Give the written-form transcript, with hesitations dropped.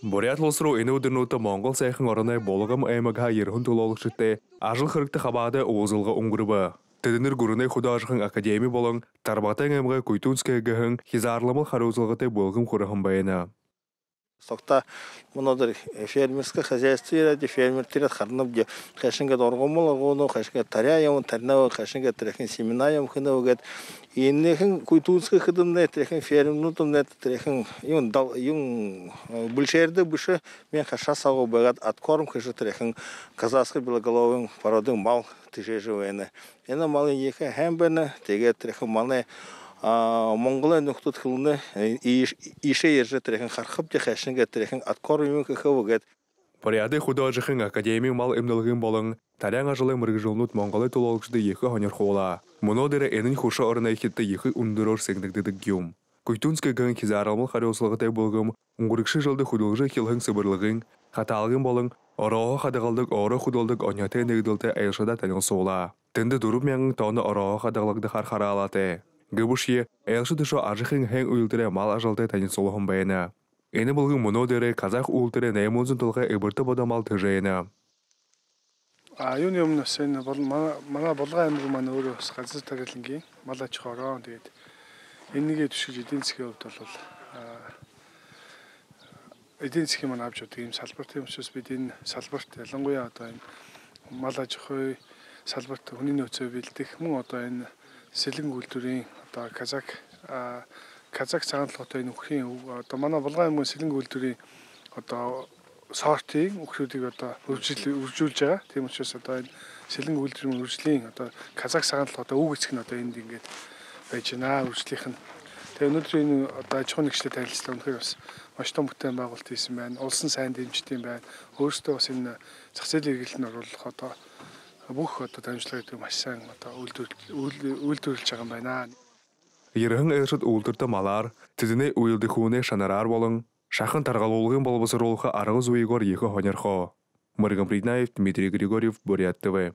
Бурят улс руу энэ өдөрнүүтэ Монгол сайхан орны булгам аймагха ерхэн төлөөлөгчтэй ажил хэрэгтэ хабаада уузылга өнгөрөв. Тэднэр гүрнэ художхан академи болон Тарбатан аймагы Куйтунскайгахан хизаарламал хариуцлагатай булгам хурахан байна. Сокта монодер фермерское хозяйство ради фермер харнам хашинга доргомол гоно хашинга таряям тарнава хашинга трехин семенаям хнавгат иннехин Куйтунскай хадымне трехин фермнутумне трехин юм большерде буше мен хашасагу багат откорм хаши трехин казахский белоголовый породный мал тижежевene. Эна малы ехе хэмбэна тэгээ трехин малне Монголын нөхдөд хөлнө ишээ ярьж тэрхэн хархав яхашинга тэрхэн откор юм гэхвэгэд Поряды художхан академи мал эмнэлгэн болон тарян ажлын мэргэжлнүүд Монголын төлөөлөгчдөд ихэ хонёрхуула. Мөнөдөр энэн хөшө орны ихтэй ихэ өндөрөөр сэгнэгдэдэг юм. Куйтунскайгахан хизаарамал хариуцлагатай булгам өнгөрөгшин жылды хөдөлгөж хилхэн сэбэрлэгэн хатаалгын болон ороо хадгалдаг ороо хөдөлдөг оньятай нэгдэлтэй аялшада танилцуулаа. Тэнд 4,000 тонн ороо хадгалдаг хараалаатай. Гүбүшие аялшад шо ажихын хэн үйлдэрэ мал ажалтай танилцуулсан байна. Энэ булган мөнөдөрэ казах үйлдэрэ 800 толгой эбэртэ бодомал тэжээнэ. Юуны өмнөөс энэ бол манай булган аймаг маань өөрөө бас газар тариалангийн мал аж ахуй ороо тэгээд энэгээ төшөж эдийн засгийн хувьд бол эдийн засгийн маань авч байгаа юм салбарт юм учраас бид энэ салбарт ялангуяа одоо энэ мал аж ахуй салбарт хүний нөөцөө бэлдэх мөн одоо энэ сэлэн үйлдвэрийн одоо казак цагаанлагатай нөхрийн одоо манай булган аймгийн сэлэн үйлдвэрийн одоо сортын нөхрүүдийг одоо үржүүлж байгаа. Тийм учраас одоо энэ сэлэн үйлдвэрийн үржлийн одоо казак цагаанлагатай үг эцэг нь одоо энд ингээд байж байна. Үржлийнх нь. Тэгээ өнөөдөр энэ одоо аж ахуй нэгжтэй танилцлаа өнөхөр бас маш том бүтээн байгуулалт хийсэн байна. Улсын сайн дэмждэг юм байна. Өөрөөсөө бас энэ зах зээлийн эргэлтэнд оруулах одоо бүх одоо дамжлагыг маш сайн одоо үйлдвэрлэж байгаа юм байна. Ерхэн аялшад үйлдвэртэ малаар тэдний үйлдэх хүнээ шанараар болон шахан таргалуулгын болбосруулах арга зүйгоор ихэ хоньорхоо. Марган Приднаев, Дмитрий Григорьев, Бурят ТВ.